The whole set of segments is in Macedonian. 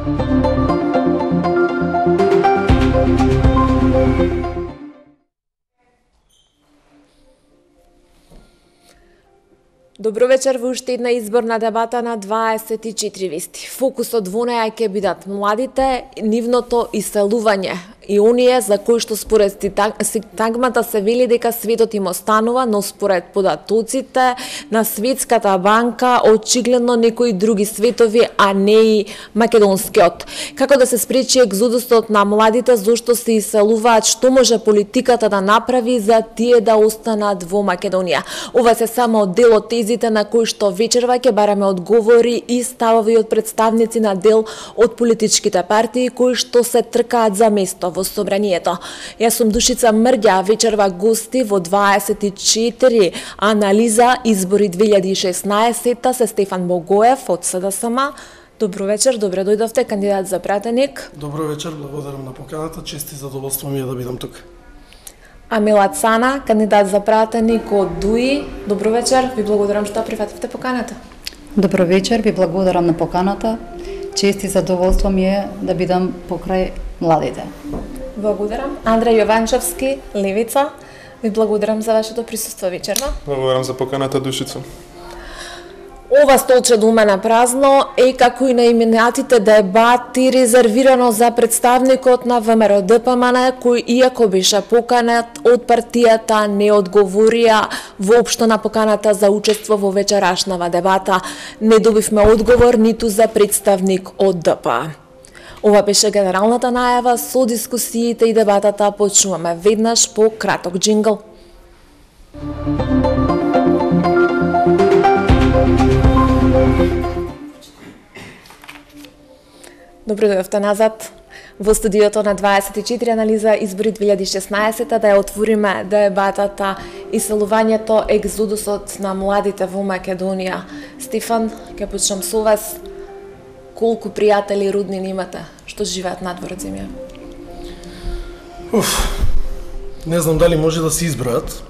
Добро вечер во уште една изборна дебата на 24 вести. Фокусот во неја ќе бидат младите, нивното иселување и оние за кои што според синтагмата се вели дека светот им останува, но според податоците на Светската банка очигледно некои други светови, а не и македонскиот. Како да се спречи екзодусот на младите, зошто се иселуваат, што може политиката да направи за тие да останат во Македонија? Ова се само дел од тезите на кои што вечерва ќе бараме одговори и ставови од представници на дел од политичките партии кои што се тркаат за место во собранието. Јас сум Душица Мрѓа, вечерва гости во 24 анализа избори 2016 се Стефан Богоев од СДСМ. Добро вечер, добре дојдовте, кандидат за пратеник. Добро вечер, благодарам на поканата, чест и задоволство ми е да бидам тук. Амила Цана, кандидат за пратеник од ДУИ. Добро вечер, ви благодарам што прифативте поканата. Добро вечер, ви благодарам на поканата. Чест и задоволство ми е да бидам покрај младите. Благодарам. Андреј Јованчевски, Левица. Ви благодарам за вашето присуство вечерва. Благодарам за поканата, Душица. Ова столче до мене празно е како и на именатите дебати резервирано за представникот на ВМРО ДПМН, кој иако беше поканет од партијата не одговорија воопшто на поканата за учество во вечерашнава дебата. Не добивме одговор ниту за представник од ДП. Ова беше генералната најава со дискусиите и дебатата. Почнуваме веднаш по краток джингл. Добро дојдовте назад во студиото на 24 анализа избори 2016 да ја отвориме дебатата иселувањето, екзодусот на младите во Македонија. Стефан, ќе почнам со вас. Колку пријатели и роднини имате што живеат надвор од земја? Не знам дали може да се избројат.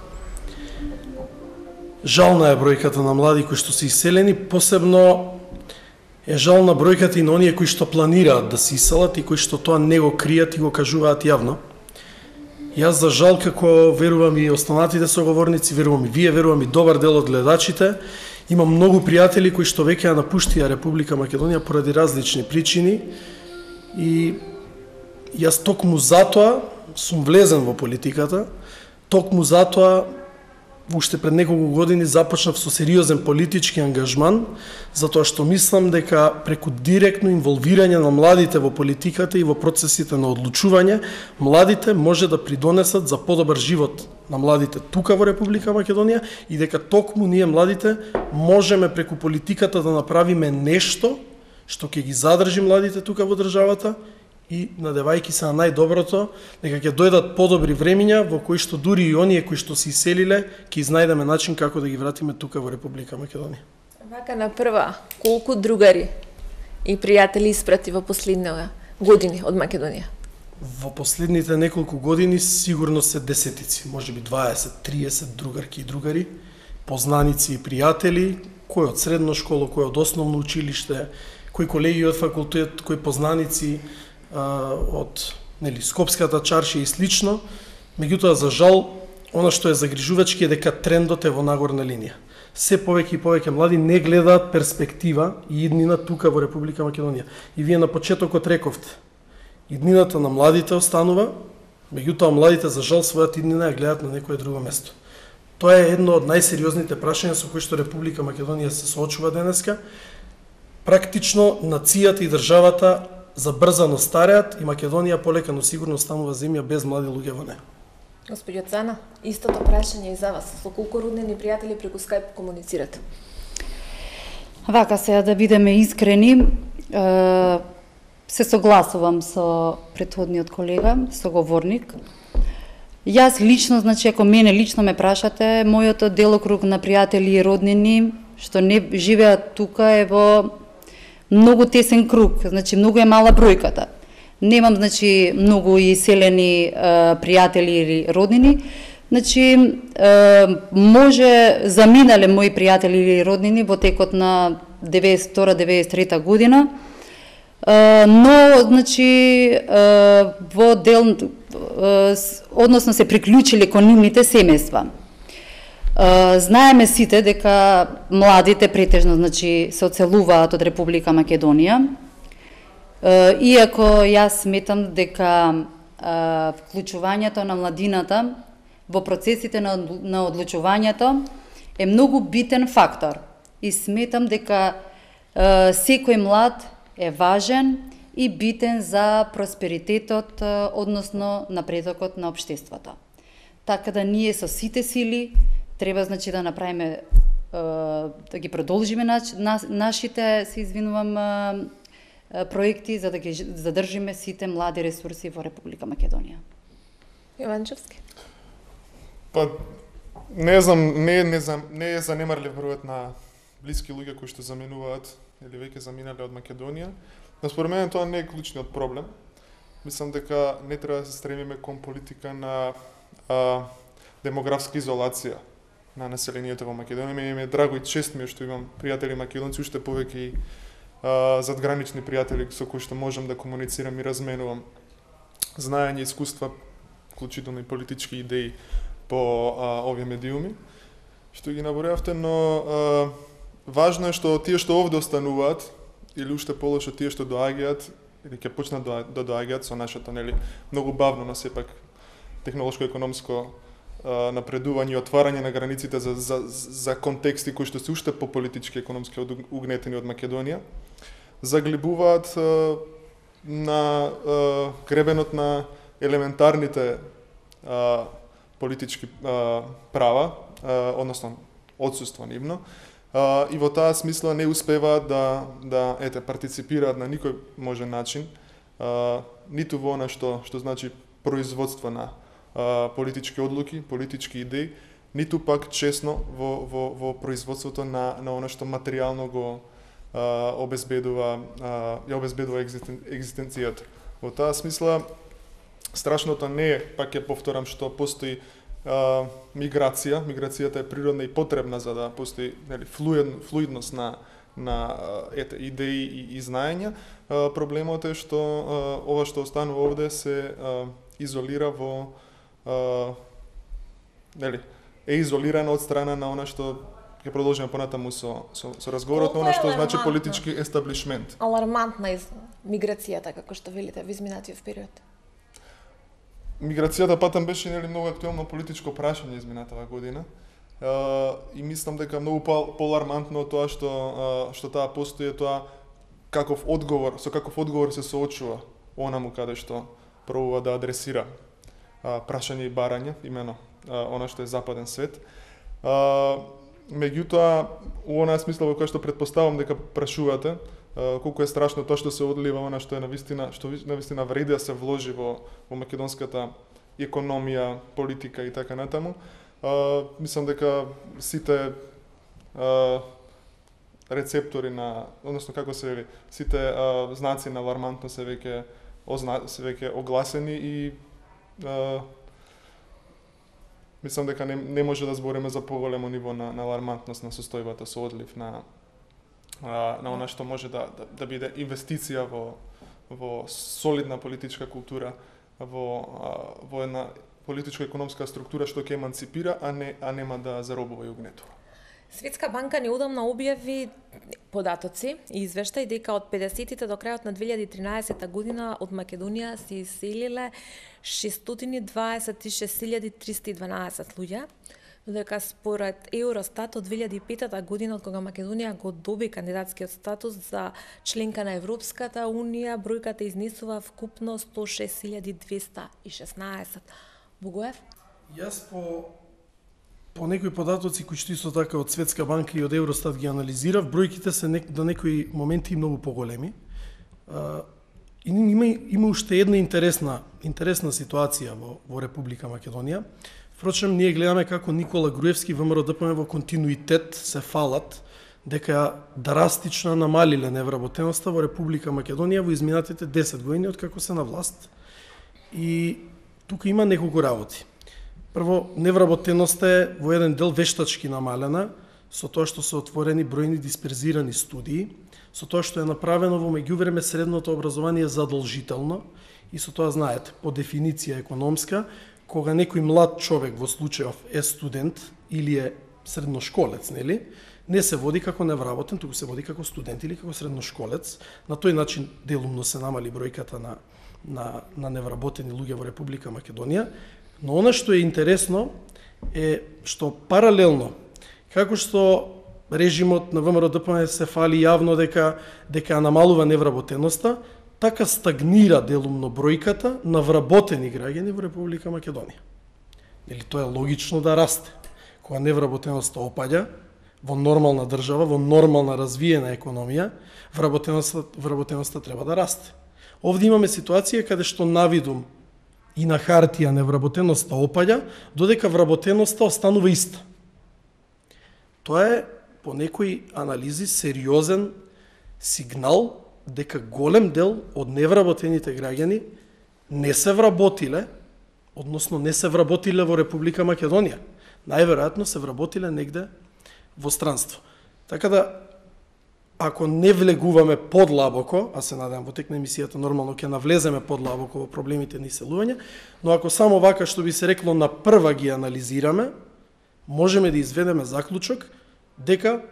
Жална е бројката на млади кои што се иселени, посебно е жална бројката и на оние кои што планираат да се иселат и кои што тоа не го кријат и го кажуваат јавно. Јас за жал, како верувам и останатите соговорници, верувам и вие, верувам и добар дел од гледачите, имам многу пријатели кои што веќе ја напуштија Република Македонија поради различни причини и јас токму затоа сум влезен во политиката, токму затоа уште пред неколку години започнав со сериозен политички ангажман, затоа што мислам дека преку директно инволвирање на младите во политиката и во процесите на одлучување, младите може да придонесат за подобар живот на младите тука во Република Македонија и дека токму ние младите можеме преку политиката да направиме нешто што ќе ги задржи младите тука во државата и надевајќи се на најдоброто, дека ќе дојдат подобри времиња во кои што дури и оние кои што се иселиле, ќе изнајдеме начин како да ги вратиме тука во Република Македонија. Вака на прва, колку другари и пријатели испрати во последниве години од Македонија? Во последните неколку години сигурно се десетици, можеби 20-30 другарки и другари, познаници и пријатели, кој од средно школа, кој од основно училиште, кои колеги од факултет, кои познаници од Скопската чаршија и слично. Меѓутоа, за жал, она што е загрижувачки е дека трендот е во нагорна линија. Се повеќе и повеќе млади не гледаат перспектива и иднина тука во Република Македонија. И вие на почетокот рековте, иднината на младите останува, меѓутоа младите за жал својата иднина ја гледаат на некое друго место. Тоа е едно од најсериозните прашања со кои што Република Македонија се соочува денеска. Практично нацијата и државата забрзано стареат и Македонија полека но сигурно станува земја без млади луѓе во неа. Господјо Цана, истото прашање и за вас. Со колку роднини и пријатели преку Skype комуницирате? Вака сега да бидеме искрени, се согласувам со претходниот колега, соговорник. Јас лично, значи ако мене лично ме прашате, мојот делокруг на пријатели и роднини што не живеат тука е во многу тесен круг, значи многу е мала бројката. Немам, значи, многу иселени пријатели или роднини. Значи, може заминале мои пријатели или роднини во текот на 92-93 година. Но, значи, во дел, односно се приклучиле кон нивните семејства. Знаеме сите дека младите претежно, значи, се оцелуваат од Република Македонија, иако јас сметам дека вклучувањето на младината во процесите на одлучувањето е многу битен фактор и сметам дека секој млад е важен и битен за просперитетот, односно напредокот на општеството. Така да ние со сите сили треба, значи, да направиме, да ги продолжиме нашите, се извинувам, проекти за да ги задржиме сите млади ресурси во Република Македонија. Јованчевски. Па не знам, не е занемарлив бројот на блиски луѓе кои што заминуваат или веќе заминале од Македонија. Но според мене тоа не е клучниот проблем. Мислам дека не треба да се стремиме кон политика на демографска изолација на населението во Македонија. Ми е драго и чест ми е што имам пријатели македонци, уште повеќе и задгранични пријатели со кои што можам да комуницирам и разменувам знаење, искуства, вклучително и политички идеи по овие медиуми што ги набројавте, но важно е што тие што овде остануваат или уште полошо тие што доаѓаат или ќе почнат да доаѓаат со нашето, нели, многу бавно, но сепак технолошко-економско напредување и отварање на границите за контексти кои што се уште по политички и економски угнетени од Македонија, заглибуваат на гребенот на елементарните политички права, односно одсуство нивно, и во таа смисла не успеваат да партиципираат на никој можен начин, ниту во она што значи производство на политички одлуки, политички идеи, ниту пак честно во производството на она што материјално го обезбедува екзистенцијата. Во таа смисла страшното не е, пак ќе повторам, што постои миграција. Миграцијата е природна и потребна за да постои, нели, флуидност на идеи и знаења. Проблемот е што ова што останува овде се изолира во нели, е изолирано од страна на она што ќе продолжиме понатаму со разговорот на она што значи политички естаблишмент. Алармантна миграцијата, како што велите, во изминатиот период. Миграцијата патам беше, нели, многу актуелно политичко прашање изминатава година. И мислам дека многу поалармантно тоа што таа постои, тоа со каков одговор се соочува онаму каде што пробува да адресира прашање и барање, имено она што е западен свет. Меѓутоа, у онаа смисла во која што претпоставам дека прашувате, колку е страшно тоа што се одлива, она што е навистина вреди да се вложи во македонската економија, политика и така натаму. Мислам дека сите рецептори односно како се вели, сите знаци на алармантност се веќе огласени и мислам дека не може да збориме за поголемо ниво на алармантност на состојбата со одлив на она што може да биде инвестиција во солидна политичка култура, во една политичко-економска структура што ќе еманципира, а нема да заробува и угнетува. Светска банка неодамна објави податоци и извештај дека од 50-тите до крајот на 2013 година од Македонија се иселиле 626.312 луѓе, додека според Евростат од 2005 година, од кога Македонија го доби кандидатскиот статус за членка на Европската Унија, бројката изнесува вкупно 106.216. Богоев? Јас по некои податоци кои што исто така од Светска банка и од Евростат ги анализирав, бројките се до некои моменти многу поголеми. И има уште една интересна ситуација во Република Македонија. Впрочем, ние гледаме како Никола Груевски ВМРО ДПМ во континуитет се фалат дека драстично намалиле невработеноста во Република Македонија во изминатите 10 години од како се на власт. И тука има неколку работи. Прво, невработеноста е во еден дел вештачки намалена, со тоа што се отворени бројни дисперзирани студии, со тоа што е направено во меѓувреме средното образование задолжително и со тоа знаете, по дефиниција економска, кога некој млад човек во случајов е студент или е средношколец, нели, не се води како невработен, туку се води како студент или како средношколец. На тој начин делумно се намали бројката на невработени луѓе во Република Македонија. Но она што е интересно е што паралелно, како што режимот на ВМРО-ДПМН се фали јавно дека намалува невработеноста, така стагнира делумно бројката на вработени граѓани во Република Македонија. Или тоа е логично да расте. Кога невработеноста опаѓа во нормална држава, во нормална развиена економија, вработеноста треба да расте. Овде имаме ситуација каде што навидум и на хартија невработеноста опаѓа, додека вработеноста останува иста. Тоа е по некои анализи сериозен сигнал дека голем дел од невработените граѓани не се вработиле, односно не се вработиле во Република Македонија. Најверојатно се вработиле негде во странство. Така да, ако не влегуваме подлабоко, а се надевам во тек на емисијата нормално ќе навлеземе подлабоко во проблемите на иселување, но ако само вака што би се рекло на прва ги анализираме, можеме да изведеме заклучок дека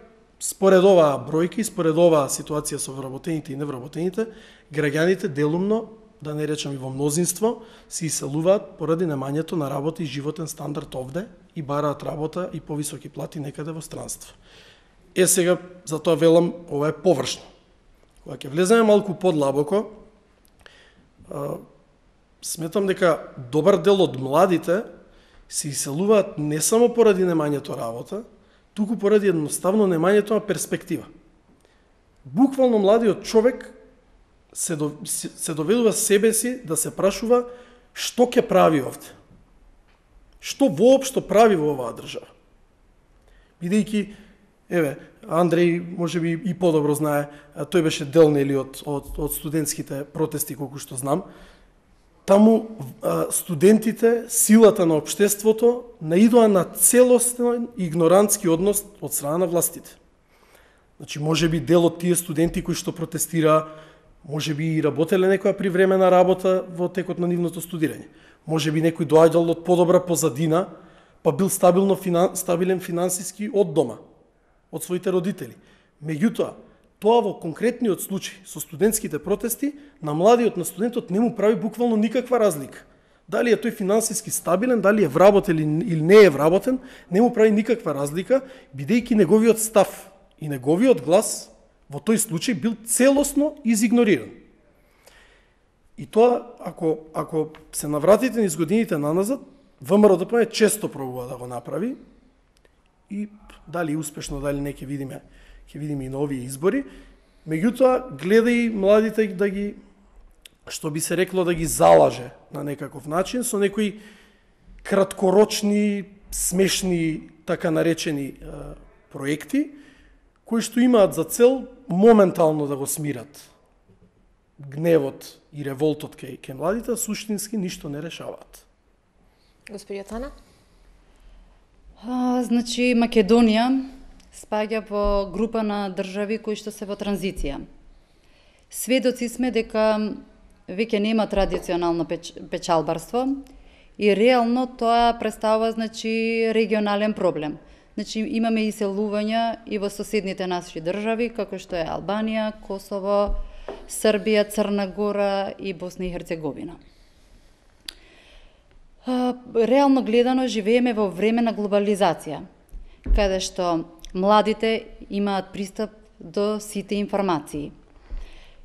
според оваа бројки, според оваа ситуација со вработените и невработените, граѓаните делумно, да не речем и во мнозинство, се иселуваат поради немањето на работа и животен стандард овде и бараат работа и повисоки плати некаде во странство. Сега, за тоа велам, ова е површно. Кога ќе влеземе малку подлабоко, сметам дека добар дел од младите се иселуваат не само поради немањето работа, туку поради едноставно немањето на перспектива. Буквално младиот човек се доведува себе си да се прашува што ќе прави овде. Што воопшто прави во оваа држава. Бидејќи, Андреј можеби и подобро знае, тој беше дел нели од студентските протести колку што знам. Таму студентите, силата на општеството наидоа на целостен игнорантски однос од страна на властите. Значи, можеби дел од тие студенти кои што протестира, можеби и работеле некоја привремена работа во текот на нивното студирање. Можеби некој доаѓал од подобра позадина, па бил стабилен финансиски од дома, од своите родители. Меѓутоа, тоа во конкретниот случај со студентските протести, на младиот, на студентот не му прави буквално никаква разлика. Дали е тој финансиски стабилен, дали е вработен или не е вработен, не му прави никаква разлика, бидејќи неговиот став и неговиот глас во тој случај бил целосно изигнориран. И тоа, ако се навратите низ годините наназад, ВМРО-ДПМН често пробува да го направи и дали успешно, дали не ќе видиме и на овие избори. Меѓутоа, гледа и младите да ги, што би се рекло, да ги залаже на некаков начин со некои краткорочни, смешни, така наречени проекти, кои што имаат за цел моментално да го смират гневот и револтот кај младите, суштински ништо не решаваат. Господија Тана? Значи, Македонија спаѓа во група на држави кои што се во транзиција. Сведоци сме дека веќе нема традиционално печалбарство и реално тоа представува, значи, регионален проблем. Значи, имаме иселувања и во соседните наши држави, како што е Албанија, Косово, Србија, Црна Гора и Босна и Херцеговина. Реално гледано, живееме во време на глобализација, каде што младите имаат пристап до сите информации.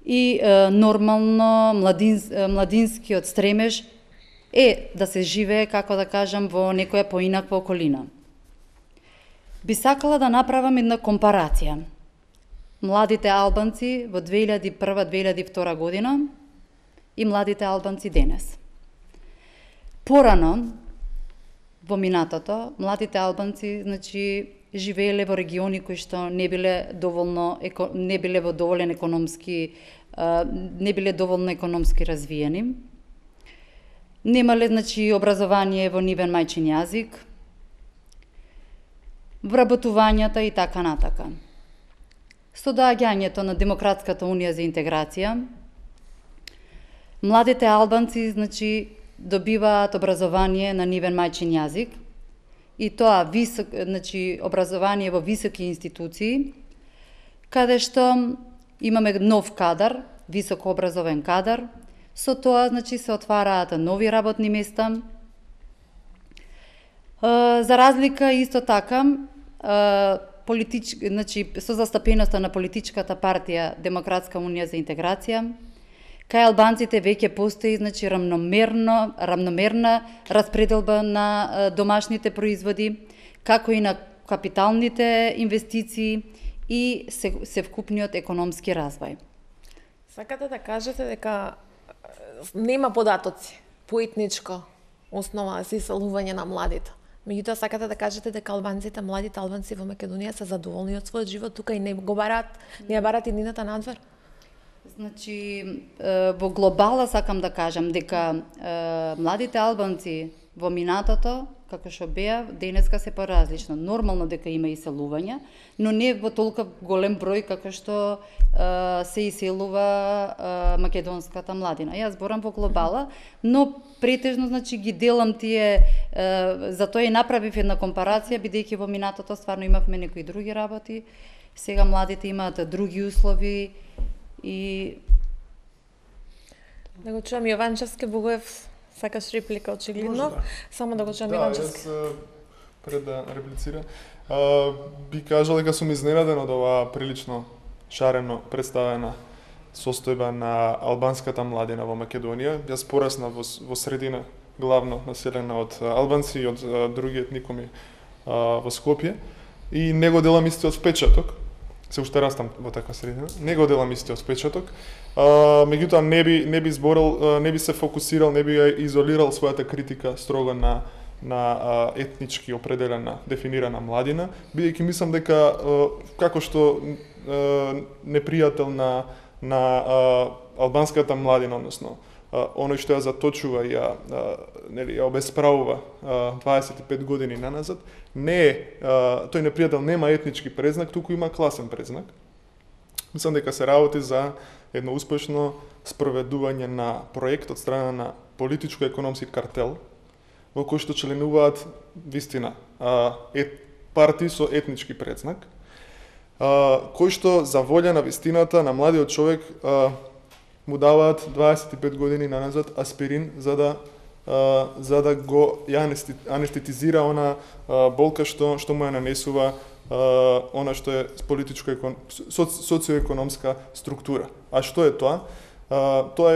И нормално младинскиот стремеж е да се живее, како да кажам, во некоја поинаква околина. Би сакала да направам една компарација. Младите албанци во 2001-2002 година и младите албанци денес. Порано, во минатото, младите албанци, значи, живееле во региони кои што не биле доволно економски развиени. Немале, значи, образование во нивен мајчин јазик. вработувањата и така натака. Со доаѓањето на Демократската унија за интеграција, младите албанци, значи, добиваат образование на нивен мајчин јазик, и тоа значи, образование во високи институции, каде што имаме нов кадар, високо образовен кадар, со тоа, значи, се отвараат нови работни места. За разлика исто така, значи, со застапеноста на политичката партија Демократска унија за интеграција, кај албанците веќе постои, значи, рамномерна распределба на домашните производи, како и на капиталните инвестиции и севкупниот економски развој. Сакате да кажете дека нема податоци по етничка основа за иселување на младите. Меѓутоа сакате да кажете дека албанците, младите албанци во Македонија се задоволни од својот живот тука и не го бараат, не ја бараат иднината надвор? Значи, во глобала сакам да кажам дека младите албанци во минатото, како што беа, денеска се поразлично. Нормално дека има иселување, но не во толку голем број како што се иселува македонската младина. Јас зборам во глобала, но претежно, значи, ги делам тие, затоа и направив една компарација, бидејќи во минатото стварно имавме некои други работи, сега младите имаат други услови и... Да го чуам Јованчевски, Богоев, сакаш реплика очигледно? Да. Само да го чуам Да, Јованчевски. јас пред да реплицира, би кажал дека сум изненаден од оваа прилично шарено представена состојба на албанската младина во Македонија. Јас порасна во средина главно населена од албанци и од други етникуми во Скопје и не го делам истиот впечаток. Се уште растам во таква средина. Не го делам истиот впечаток. Меѓутоа не би зборил, не би се фокусирал, не би изолирал својата критика строго на етнички определена, дефинирана младина, бидејќи мислам дека како што непријател на албанската младина, односно оној што ја заточува и ја обесправува 25 години наназад, не е тој непријател нема етнички презнак, туку има класен презнак. Мислам дека се работи за едно успешно спроведување на проект од страна на политичко-економски картел во кој што членуваат вистина партии со етнички презнак, кој што за волја на вистината на младиот човек му даваат 25 години наназад аспирин за да го анестетизира она болка што му ја нанесува она што е социоекономска структура. А што е тоа? Тоа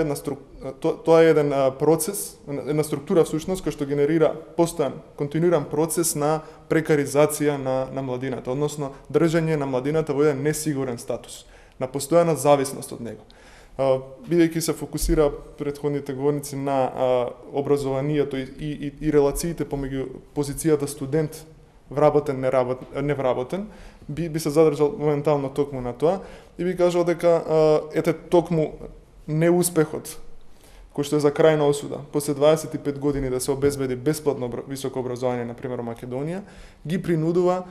е еден процес, една структура всушност која што генерира постојан, континуиран процес на прекаризација на младината, односно држање на младината во еден несигурен статус, на постојана зависност од него. Бидејќи се фокусира претходните говорници на образованието и релациите помеѓу позицијата студент вработен, невработен, би се задржал моментално токму на тоа и би кажал дека токму неуспехот кој што е за крајна осуда, после 25 години да се обезбеди бесплатно високо образование, на пример Македонија, ги принудува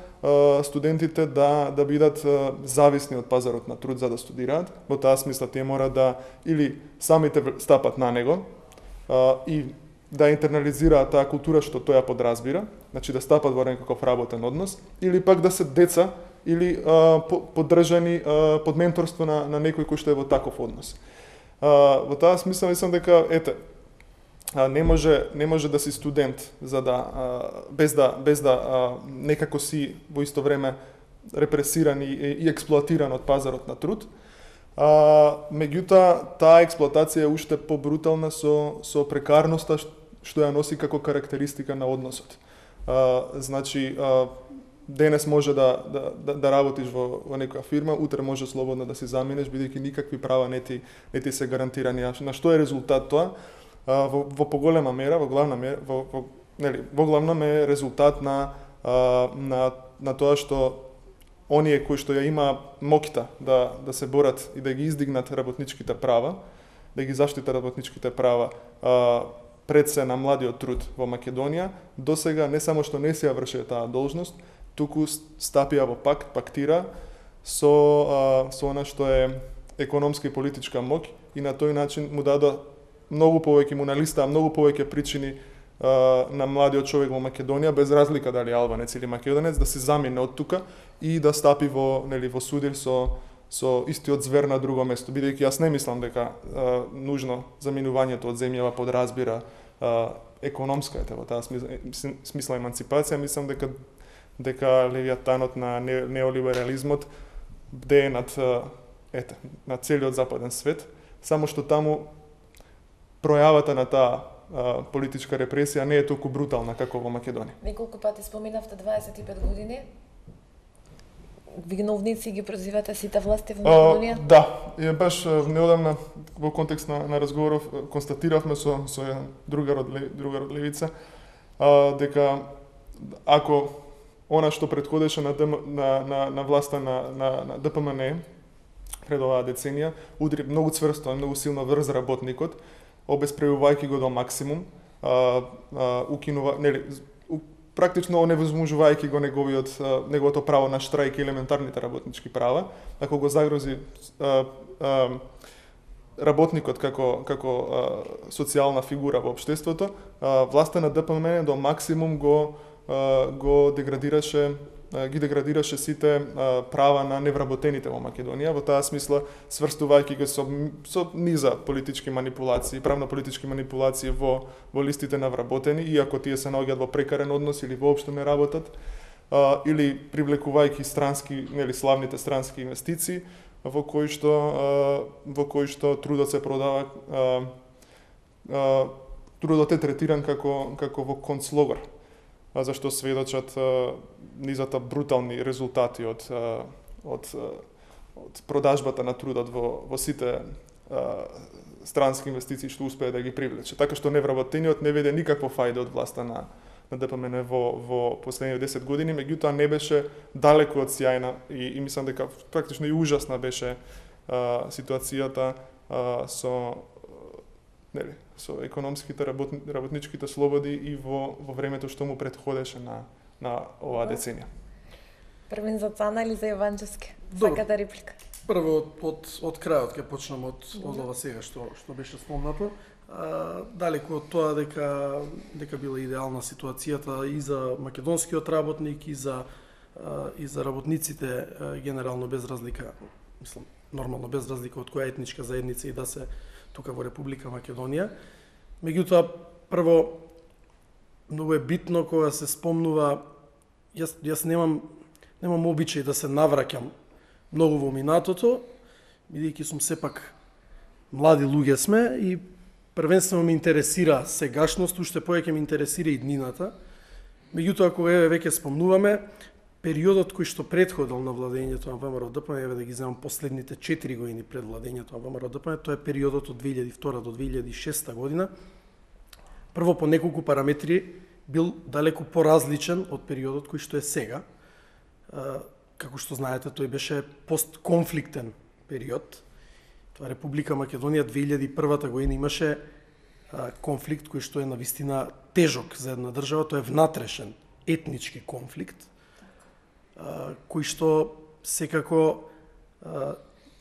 студентите да бидат зависни од пазарот на труд за да студираат. Во таа смисла тие мора да или самите стапат на него и да интернализираат таа култура што тој ја подразбира, значи да стапат во некаков работен однос, или пак да се деца или поддржани под менторство на некој кој што е во таков однос. Во таа смисла мислам дека не може да си студент за да без да некако си во исто време репресиран и експлоатиран од пазарот на труд. Меѓутоа таа експлоатација е уште побрутална со прекарноста што ја носи како карактеристика на односот. Значи денес може да работиш во некоја фирма, утре може слободно да си заминеш, бидејќи никакви права не ти се гарантирани. На што е резултат тоа? Во поголема мера, во главном е резултат на тоа што оние кои што ја има моќта да се борат и да ги издигнат работничките права, да ги заштитат работничките права пред се на младиот труд во Македонија, досега не само што не се ја врши таа должност, туку стапија во пактира со она што е економска и политичка моќ и на тој начин му даде многу повеќе, му налистаа многу повеќе причини на младиот човек во Македонија, без разлика дали албанец или македонец, да се замине од тука и да стапи во судир со истиот звер на друго место, бидејќи јас не мислам дека нужно заминувањето од земјава подразбира економска во таа смисла еманципација. Мислам дека левијатанот на неолиберализмот бдее на целиот западен свет, само што таму пројавата на таа политичка репресија не е толку брутална како во Македонија. Неколку пати споменавте 25 години. Виновници ги прозивате сите власти во Македонија? Да, баш неодамна во контекст на разговоров констатиравме со еден другар од левица дека ако она што претходеше на власта на ДПМН пред оваа деценија удри многу цврсто, многу силно врз работникот, обесправувајќи го до максимум, укинува, практично оневозможувајќи го неговото право на штрајк и елементарните работнички права, ако го загрози работникот како социјална фигура во општеството, власта на ДПМН до максимум ги деградираше сите права на невработените во Македонија, во таа смисла сврстувајќи го со низа политички манипулации, правно-политички манипулации во листите на вработени, иако тие се наоѓаат во прекарен однос или воопшто не работат, или привлекувајќи славните странски инвестиции, во кои што трудот се продава, трудот е третиран како во концлогор, зашто сведочат низата брутални резултати од продажбата на трудот во сите странски инвестиции што успее да ги привлече. Така што невработениот не виде никакво фајде од власта на ДПМН во последните 10 години, меѓутоа не беше далеку од сјајна и мислам дека практично и ужасна беше ситуацијата со економските работничките слободи и во времето што му претходеше на оваа деценија. Првин за Цана или за Јованчевски? Сакате реплика? Прво од крајот ќе почнам од ова сега што беше спомнато. Далеку од тоа дека била идеална ситуацијата и за македонскиот работник и за работниците генерално без разлика, мислам нормално без разлика од која етничка заедница и да се тука во Република Македонија. Меѓутоа, прво, многу е битно кога се спомнува, јас немам обичај да се навраќам многу во минатото, бидејќи сум сепак млади луѓе сме и првенствено ме интересира сегашност, уште повеќе ме интересира и днината. Меѓутоа, кога веќе спомнуваме, периодот кој што претходил на владењето на ВМРО ДПМН, да ги земам последните 4 години пред владењето на ВМРО ДПМН, тоа е периодот од 2002 до 2006 година. Прво по неколку параметри бил далеку поразличен од периодот кој што е сега. Како што знаете, тој беше постконфликтен период. Тоа Република Македонија 2001 година имаше конфликт кој што е навистина тежок за една држава, тоа е внатрешен етнички конфликт, кој што секако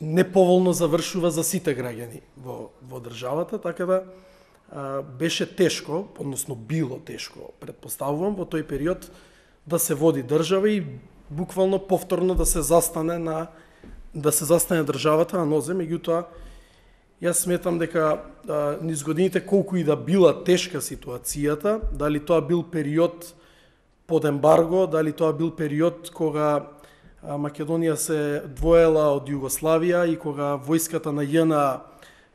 неповолно завршува за сите граѓани во државата, така да беше тешко, односно било тешко, предпоставувам, во тој период да се води држава и буквално повторно да се застане државата на нозе. Меѓутоа, јас сметам дека низ годините колку и да била тешка ситуацијата, дали тоа бил период под ембарго, дали тоа бил период кога Македонија се двоела од Југославија и кога војската на ЈНА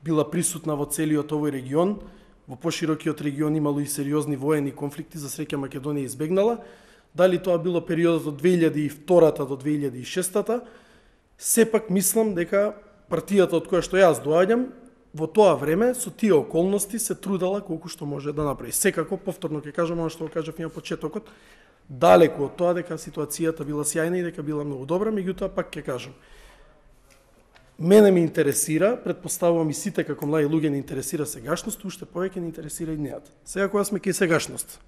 била присутна во целиот овој регион, во поширокиот регион имало и сериозни воени конфликти, за среќа Македонија избегнала, дали тоа било периодот од 2002 до 2006, сепак мислам дека партијата од која што јас доаѓам, во тоа време со тие околности се трудела колку што може да направи. Секако, повторно ќе кажам она што го кажав на почетокот, далеку од тоа дека ситуацијата била сјајна и дека била многу добра, меѓутоа пак ќе кажам. Мене ме интересира, предпоставувам и сите како млади луѓе не интересира сегашност, уште повеќе не интересира и дневата. Сега кога сме кај сегашност,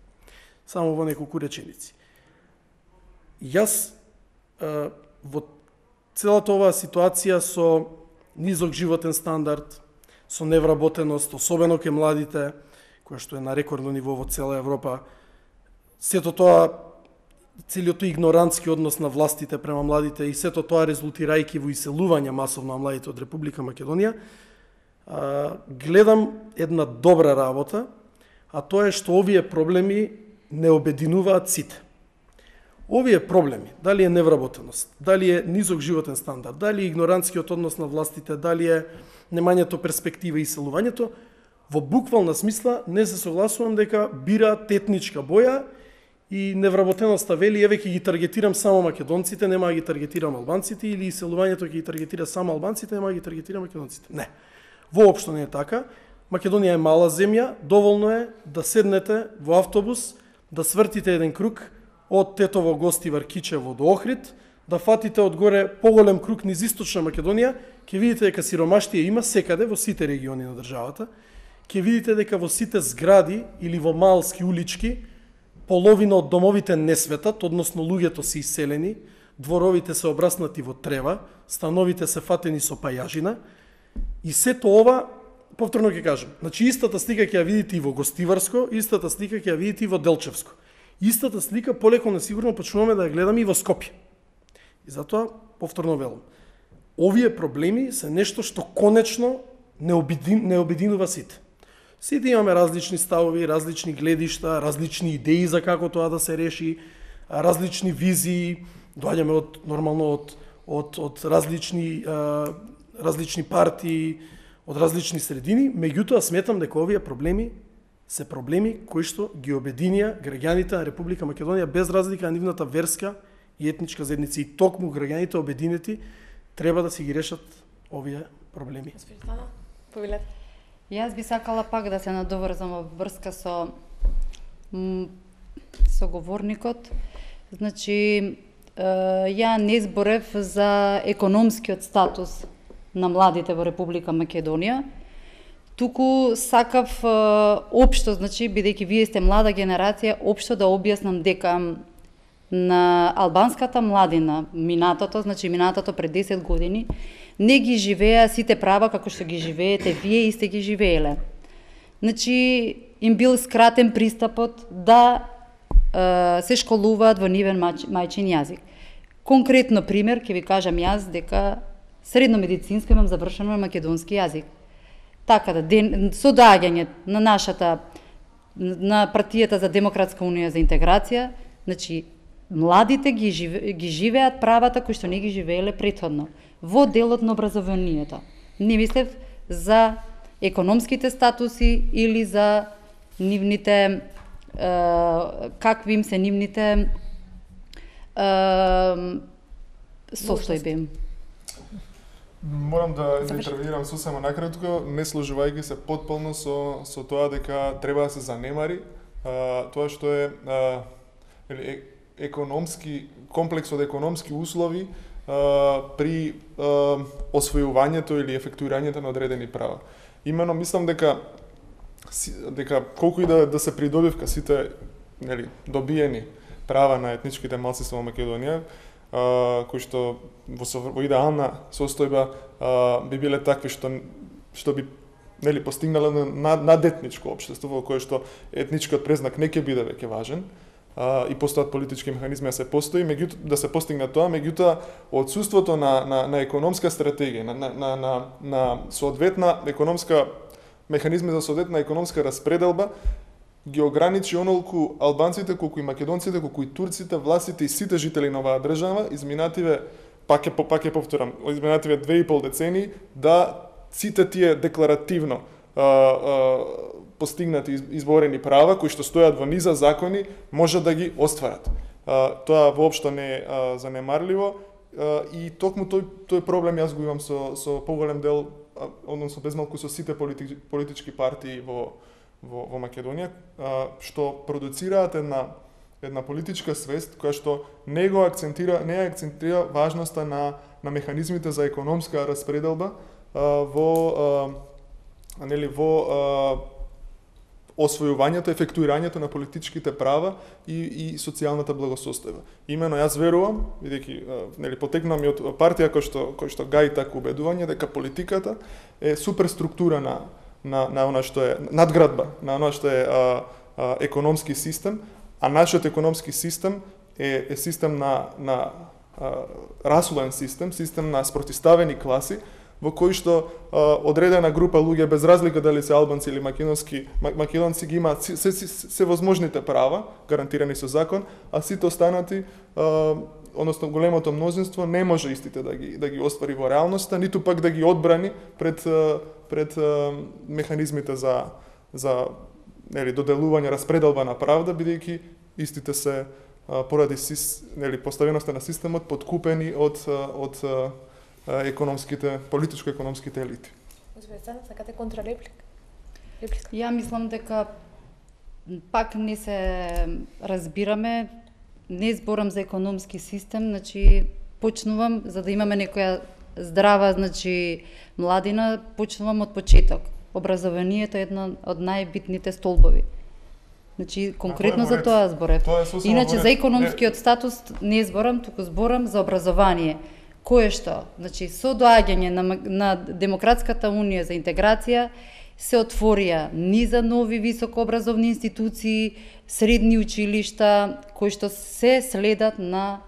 само во неколку реченици. Јас во целата оваа ситуација со низок животен стандард, со невработеност, особено кај младите, која што е на рекордно ниво во цела Европа, сето тоа, целиот тој игнорантски однос на властите према младите и сето тоа резултирајќи во иселување масовно на младите од Република Македонија, гледам една добра работа, а тоа е што овие проблеми не обединуваат сите. Овие проблеми, дали е невработеност, дали е низок животен стандард, дали е игнорантскиот однос на властите, дали е немањето перспектива и иселувањето, во буквална смисла не се согласувам дека бираат етничка боја и невработеноста вели, еве ќе ги таргетирам само македонците, нема да ги таргетирам албанците, или иселувањето ќе ги таргетира само албанците, нема да ги таргетира македонците. Не. Воопшто не е така. Македонија е мала земја, доволно е да седнете во автобус, да свртите еден круг од Тетово Гостивар Кичево до Охрид, да фатите одгоре поголем круг низ источна Македонија, ќе видите дека сиромаштија има секаде во сите региони на државата. Ќе видите дека во сите згради или во малски улички половина од домовите не светат, односно луѓето се иселени, дворовите се обраснати во трева, становите се фатени со пајажина и сето ова, повторно ќе кажам, значи истата слика ќе ја видите и во Гостиварско, истата слика ќе ја видите и во Делчевско. Истата слика полеко несигурно почнуваме да ја гледаме и во Скопје. И затоа, повторно велам, овие проблеми се нешто што конечно не обединува сите. Сите имаме различни ставови, различни гледишта, различни идеи за како тоа да се реши, различни визии, доаѓаме од различни партии, од различни средини, меѓутоа сметам дека овие проблеми се проблеми кои што ги обединија граѓаните на Република Македонија без разлика на нивната верска и етничка заедница. И токму граѓаните обединети треба да си ги решат овие проблеми. Повелете. Јас би сакала пак да се надоврзам во врска со говорникот. Значи, ја не зборев за економскиот статус на младите во Република Македонија, туку сакав општо, значи, бидејќи вие сте млада генерација, општо да објаснам дека на албанската младина, минатото пред 10 години, не ги живеа сите права како што ги живеете вие и сте ги живееле. Значи, им бил скратен пристапот да се школуваат во нивен мајчин јазик. Конкретно пример, ќе ви кажам јас дека средно медицинско имам завршено на македонски јазик. Така да, со доаѓање на партијата за Демократска унија за интеграција, значи, младите ги живеат правата кои што не ги живееле претходно во делот на образованието. Не мислев за економските статуси или за нивните какви им се нивните состојби. Морам да интервенирам сосема накратко, не сложувајќи се потполно со тоа дека треба да се занемари тоа што е економски комплекс од економски услови при освојувањето или ефектуирањето на одредени права. Имено мислам дека колку и да се придобивка сите добиени права на етничките малцинства во Македонија, кои што во идеална состојба би биле такви што би постигнале надетничко општество во кое што етничкиот презнак не ќе биде веќе важен и постојат политички механизми да се постигне тоа, меѓутоа отсуството на економска стратегија, на соодветна економска механизми за соодветна економска распределба ги ограничи онолку албанците, колку и македонците, колку и турците, властите и сите жители на оваа држава, изминативе, пак ќе повторам, изминативе 2,5 децении, да сите тие декларативно постигнати изборени права, кои што стојат во низа закони, може да ги остварат. Тоа воопшто не е занемарливо и токму тој проблем јас го имам со поголем дел, односно безмалку со сите политички партии во Македонија, што продуцираат една политичка свест која што не акцентира важноста на механизмите за економска распределба во освојувањето, ефектуирањето на политичките права и социјалната благосостојба. Имено јас верувам, бидејќи потекнувам и од партија кој што гаи такво убедување дека политиката е суперструктура на она што е надградба, на она што е економски систем, а нашиот економски систем е систем на расулен систем на спротиставени класи, во кој што одредена група луѓе, без разлика дали се албанци или македонци, ги имаат се возможните права, гарантирани со закон, а сите останати, односно големото мнозинство, не може истите да ги оствари во реалноста, ниту пак да ги одбрани пред механизмите за доделување, распределба на правда, бидејќи истите се поради поставеноста на системот подкупени од политичко-економските елити. Господине, сакате контрареплика? Ја мислам дека пак не се разбираме, не зборам за економски систем, значи почнувам за да имаме некоја здрава, значи младина, почнувам од почеток. Образованието е едно од најбитните столбови. Значи, конкретно за тоа зборев. Иначе за економскиот статус не зборам, туку зборам за образование. Кое што, значи, со доаѓање на Демократската унија за интеграција се отворија низа нови високообразовни институции, средни училишта, кои што се следат на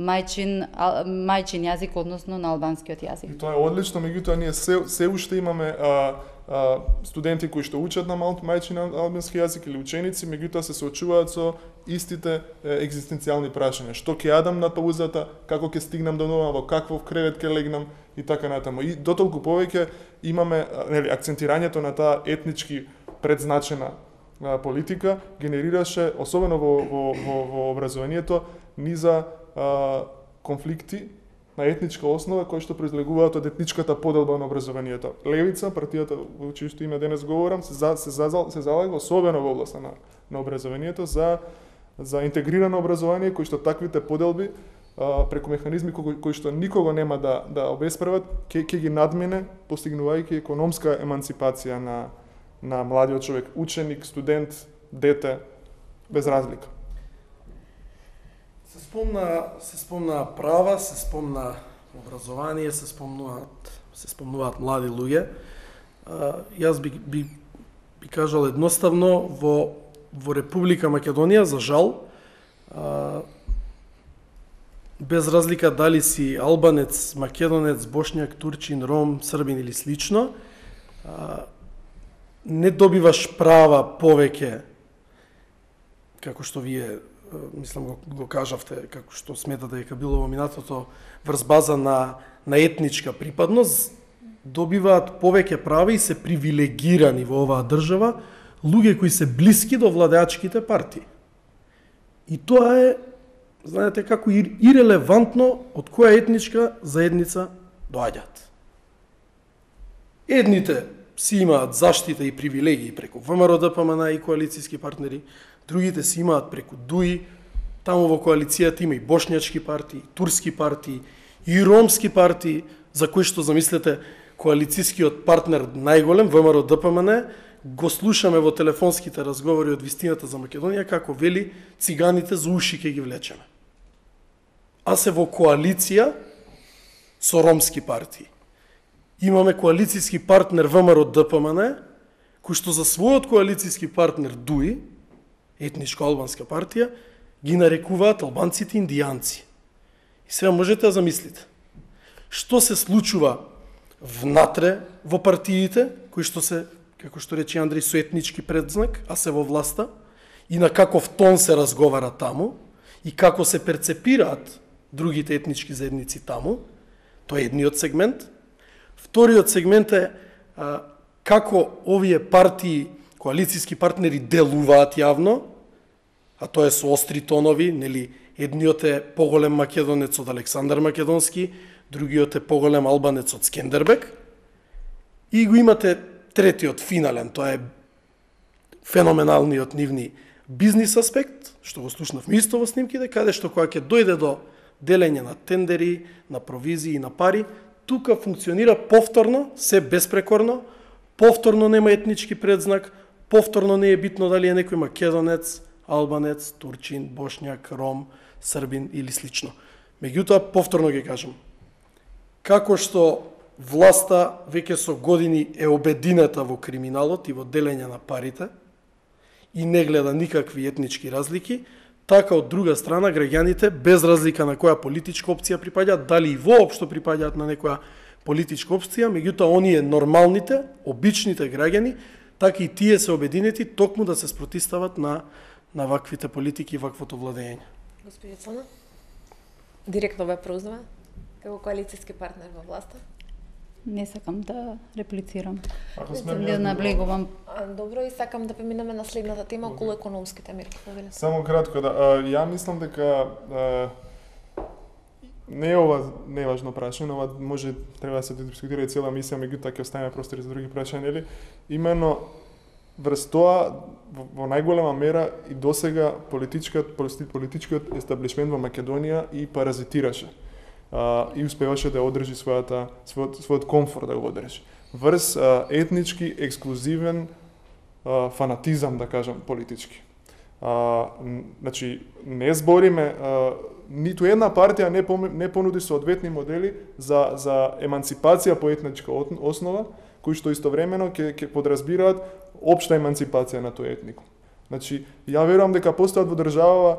мајчин јазик, односно на албанскиот јазик. И тоа е одлично, меѓутоа ние се уште имаме студенти кои што учат на мајчин албански јазик или ученици, меѓутоа се соочуваат со истите екзистенцијални прашања. Што ќе јадам на паузата, како ќе стигнам до дома, во каков кревет ќе легнам и така натаму. И дотолку повеќе имаме акцентирањето на таа етнички предзначена политика генерираше, особено во образованието, низа конфликти на етничка основа кои што произлегуваат од етничката поделба на образованието. Левица, партијата во чието име денес говорам, се залага особено во областа на образованието за интегрирано образование кои што таквите поделби преку механизми кои што никого нема да обесправат, ќе ги надмине, постигнувајќи економска емансипација на младиот човек, ученик, студент, дете, без разлика. Се спомна права, се спомна образование, се спомнуваат млади луѓе. Јас би кажал едноставно, во Република Македонија, за жал, без разлика дали си албанец, македонец, бошњак, турчин, ром, србин или слично, не добиваш права повеќе, како што вие мислам го кажавте, како што сметате дека било во минатото, врз база на етничка припадност, добиваат повеќе права и се привилегирани во оваа држава луѓе кои се блиски до владеачките партии. И тоа е, знаете како, ирелевантно од која етничка заедница доаѓаат. Едните си имаат заштита и привилегии преку ВМРО ДПМН и коалицијски партнери, другите си имаат преку ДУИ, таму во коалицијата има и бошњачки партии, турски партии, и ромски партии, за кои што замислете коалицијскиот партнер најголем, ВМРО ДПМН, го слушаме во телефонските разговори од вистината за Македонија, како вели циганите за уши ќе ги влечеме. А се во коалиција со ромски партии. Имаме коалицијски партнер ВМРО ДПМН, кој што за својот коалицијски партнер ДУИ, етничко албанска партија, ги нарекуваат албанците индијанци. И сега можете да замислите, што се случува внатре во партиите, кои што се, како што рече Андреј, со етнички предзнак, а се во власта, и на каков тон се разговара таму, и како се перцепираат другите етнички заедници таму, тоа е едниот сегмент. Вториот сегмент е како овие партии, коалицијски партнери делуваат јавно, а тоа е со остри тонови, нели, едниот е поголем македонец од Александар Македонски, другиот е поголем албанец од Скендербек, и го имате третиот финален, тоа е феноменалниот нивни бизнис аспект, што го слушнавме исто во снимките, каде што кога ќе дојде до делење на тендери, на провизии и на пари, тука функционира повторно, се беспрекорно, повторно нема етнички предзнак, Повторно не е битно дали е некој македонец, албанец, турчин, бошњак, ром, србин или слично. Меѓутоа, повторно ги кажам, како што власта веќе со години е обединета во криминалот и во делење на парите и не гледа никакви етнички разлики, така од друга страна граѓаните, без разлика на која политичка опција припаѓаат, дали и воопшто припаѓаат на некоја политичка опција, меѓутоа оние нормалните, обичните граѓани, така и тие се обединети токму да се спротистават на ваквите политики и ваквото владење. Господи Цана, директно ве прозвува како коалицијски партнер во власта. Не сакам да реплицирам. Ако Не наблегувам. Добро, и сакам да преминеме на следната тема околу економските мерки. Само кратко, ја мислам дека не е ова неважно прашање, ова може треба да се дискутира и цела мисија, меѓутоа ќе оставиме простори за други прашања, нели? Имено врз тоа во најголема мера и досега политичкиот естаблишмент во Македонија и паразитираше. И успеваше да одржи својот комфорт да го одржи. Врз етнички, ексклузивен фанатизам, да кажам, политички. Значи, не збориме, ниту една партија не понуди соодветни модели за емансипација по етничка основа, кои што истовремено ќе подразбираат општа емансипација на тој етникум. Значи, ја верувам дека постојат во држава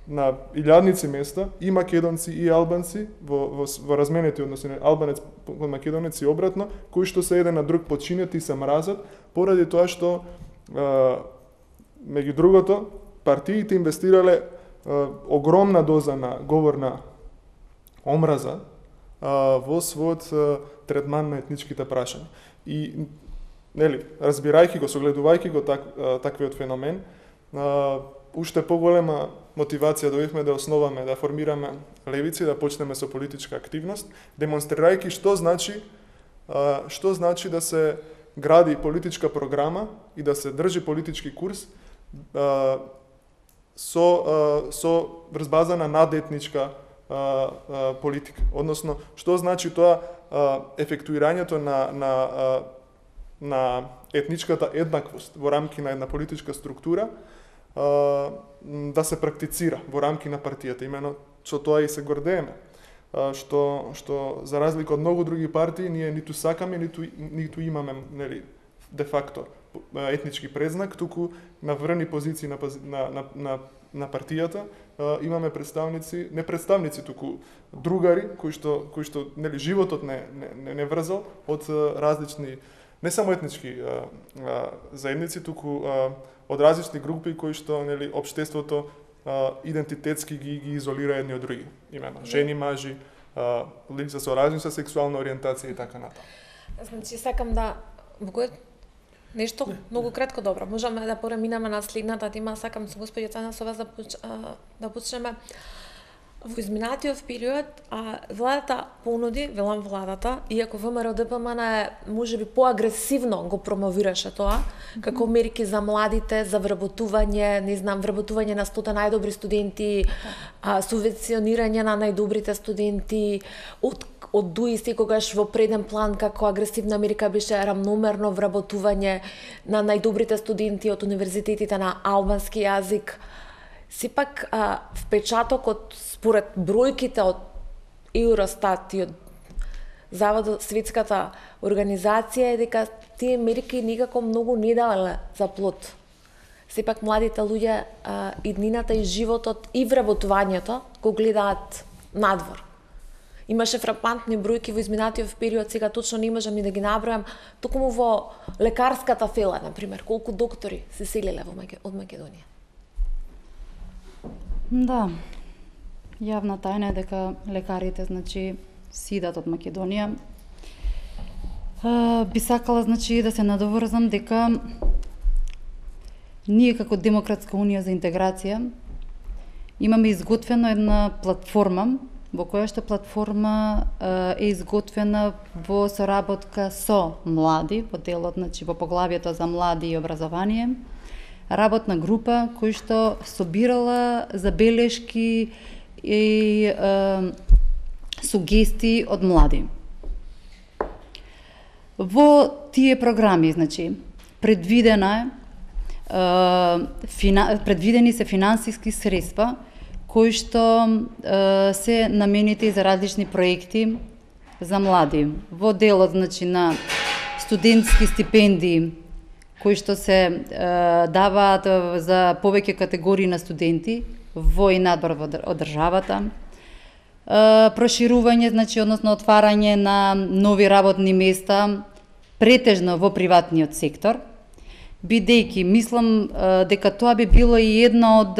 на илјадници места и македонци и албанци во разменети односи албанец кон македонец и обратно, кои што се еден на друг подчинети и се мразат поради тоа што меѓу другото партиите инвестирале огромна доза на говорна омраза во својот третман на етничките прашања. И нели, разбирајќи го, согледувајќи го таквиот феномен, уште поголема мотивација добивме да основаме, да формираме левици, да почнеме со политичка активност, демонстрирајќи што значи да се гради политичка програма и да се држи политички курс со врз база на надетничка политика. Односно, што значи тоа ефектуирањето на етничката еднаквост во рамки на една политичка структура да се практицира во рамки на партијата. Имено со тоа и се гордееме. Што за разлика од многу други партии ние ниту сакаме, ниту имаме, нели, де факто етнички презнак, туку на врни позиции на партијата имаме представници, не представници, туку другари кои што нели животот не врзал од различни не само етнички заедници, туку од различни групи кои што нели општеството идентитетски ги изолира едни од други. Имено жени, мажи, лица со различна сексуална ориентација и така натаму. Значи сакам да нешто многу кратко, добро. Можеме да преминеме на следната тема. Сакам со господи Цана со вас да почнеме. Во изминатиот период владата понуди, велам владата, иако ВМРО ДПМН можеби поагресивно го промовираше тоа, како мерки за младите, за вработување, не знам, вработување на 100 најдобри студенти, субвенционирање на најдобрите студенти, од ДУИ секогаш во преден план како агресивна мерка беше рамномерно вработување на најдобрите студенти од универзитетите на албански јазик. Сепак, впечатокот според бројките од Евростат и од Заводот Светската организација е дека тие мерки никако многу не давале за плод. Сепак младите луѓе иднината и животот и вработувањето го гледаат надвор. Имаше фрапантни бројки во изминатиот период, сега точно не можам ни да ги набројам, токму во лекарската фела, например, колку доктори се селеле од Македонија. Да, јавна тајна е дека лекарите, значи, сидат од Македонија. Би сакала, значи, да се надоврзам дека ние како Демократска унија за интеграција имаме изготвена една платформа, во која што платформа е изготвена во соработка со млади, во делот, значи, во поглавието за млади и образование, работна група која што собирала забелешки и сугестии од млади. Во тие програми, значи, предвидени се финансиски средства кои што се наменети за различни проекти за млади. Во делот, значи, на студентски стипендии кои што се даваат за повеќе категории на студенти во и надвор од државата. Проширување, значи, односно отварање на нови работни места, претежно во приватниот сектор, бидејќи мислам дека тоа би било и едно од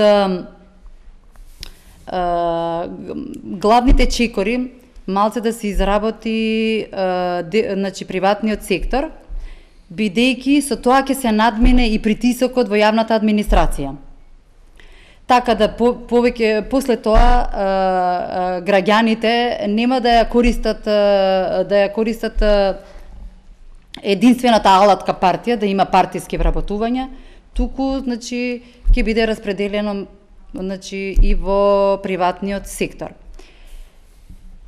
главните чекори малце да се изработи значи, приватниот сектор, бидејќи со тоа ќе се надмине и притисокот во јавната администрација. Така да повеќе после тоа граѓаните нема да ја користат единствената алатка партија, да има партиски вработувања, туку, значи, ќе биде распределено, значи, и во приватниот сектор.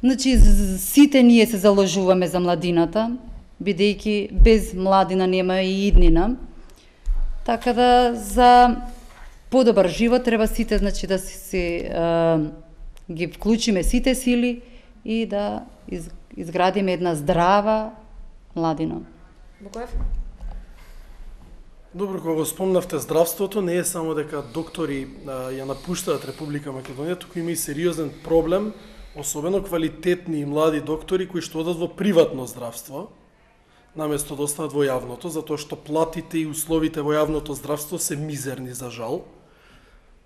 Значи, сите ние се заложуваме за младината, бидејќи без младина нема и иднина. Така да за подобар живот треба сите, значи, да ги вклучиме сите сили и да изградиме една здрава младина. Букоев? Добро, кога го спомнавте здравството, не е само дека доктори ја напуштаат Република Македонија, туку има и сериозен проблем, особено квалитетни и млади доктори кои што одат во приватно здравство, наместо да останат во јавното, затоа што платите и условите во јавното здравство се мизерни, за жал.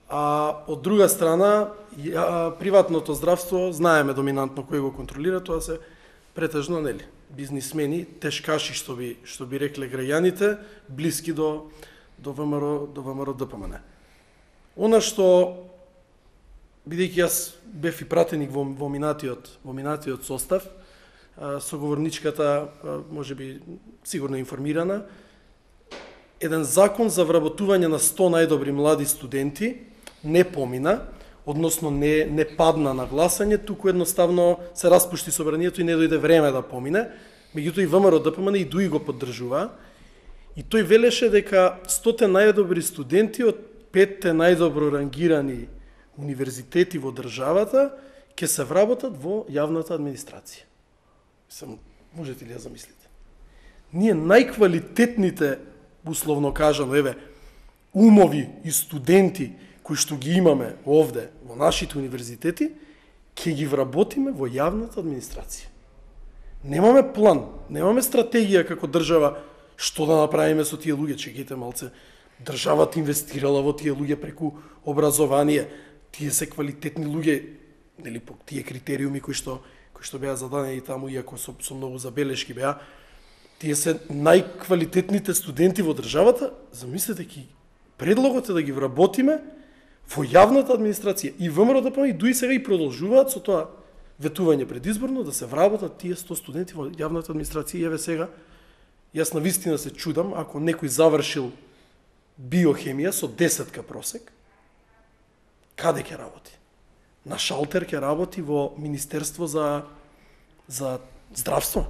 А од друга страна, приватното здравство, знаеме доминантно кој го контролира, тоа се претежно, нели, бизнисмени, тешкаши, што би рекле граѓаните, блиски до ВМРО ДПМН. Она што, бидејќи јас бев и пратеник во минатиот состав, соговорничката можеби сигурно информирана, еден закон за вработување на 100 најдобри млади студенти не помина, односно не падна на гласање, туку едноставно се распушти собранието и не дојде време да помине. Меѓутоа и ВМРО ДПМН и ДУИ го поддржува. И тој велеше дека 100 најдобри студенти од 5 најдобро рангирани универзитети во државата ќе се вработат во јавната администрација. Можете ли да замислите? Ние најквалитетните, условно кажано, умови и студенти кои што ги имаме овде во нашите универзитети, ќе ги вработиме во јавната администрација. Немаме план, немаме стратегија како држава што да направиме со тие луѓе. Чекайте малце, државата инвестирала во тие луѓе преку образование. Тие се квалитетни луѓе, нели, по тие критериуми кои што беа зададени таму, иако со многу забелешки беа, тие се најквалитетните студенти во државата. Замислете, предлогот е да ги вработиме во јавната администрација. И ВМРО ДПМН и ДУИ сега и продолжуваат со тоа ветување предизборно да се вработат тие 100 студенти во јавната администрација. И еве сега, јас навистина се чудам, ако некој завршил биохемија со 10 просек, каде ќе работи? На шалтер ќе работи во Министерство за здравство.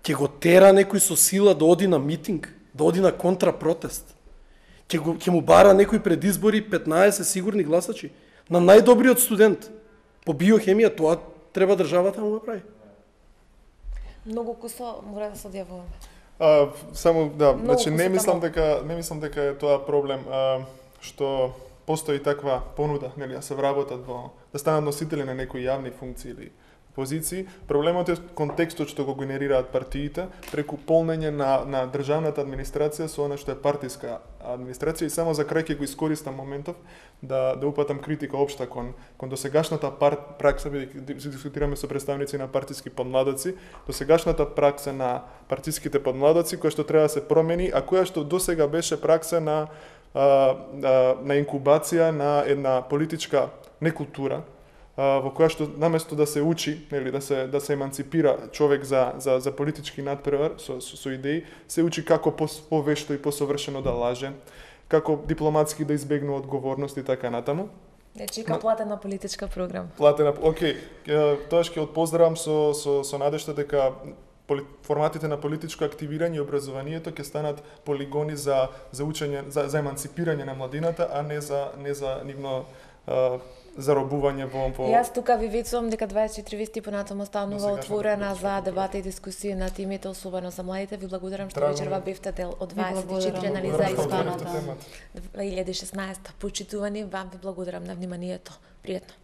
Ќе го тера некој со сила да оди на митинг, да оди на контрапротест. Ќе му бара некој пред избори 15 сигурни гласачи на најдобриот студент по биохемија. Тоа треба државата да му го прави. Многу кусо мора да се одјавуваме. Само да, значи не мислам дека е тоа проблем што постои таква понуда, нели, да се вработат да станат носители на некои јавни функции или позиции. Проблемот е контекстот што го генерираат партиите преку полнење на државната администрација со она што е партиска администрација. И само за крај ќе го искористам моментов да упатам критика општа кон досегашната пракса, бидејќи дискутираме со представници на партиски подмладоци, досегашната пракса на партиските подмладоци која што треба да се промени, а која што досега беше пракса на инкубација на една политичка некултура, во која што наместо да се учи, нели, да се еманципира човек за политички надпревар со идеи, се учи како повешто и посовршено да лаже, како дипломатски да избегнува одговорност и така натаму. Чека платена политичка програма. Океј, тоа ќе од поздравам со надежда дека форматите на политичко активирање и образованието ќе станат полигони за учење, за еманципирање на младината, а не за нивно заробување во Јас тука ви вечувам дека 24 вести понатаму останува отворена за дебата и дискусија на темите, особено за младите. Ви благодарам што вечерва бевте дел од 24 анализа изборната 2016. Почитувани, вам ви благодарам на вниманието. Пријатно.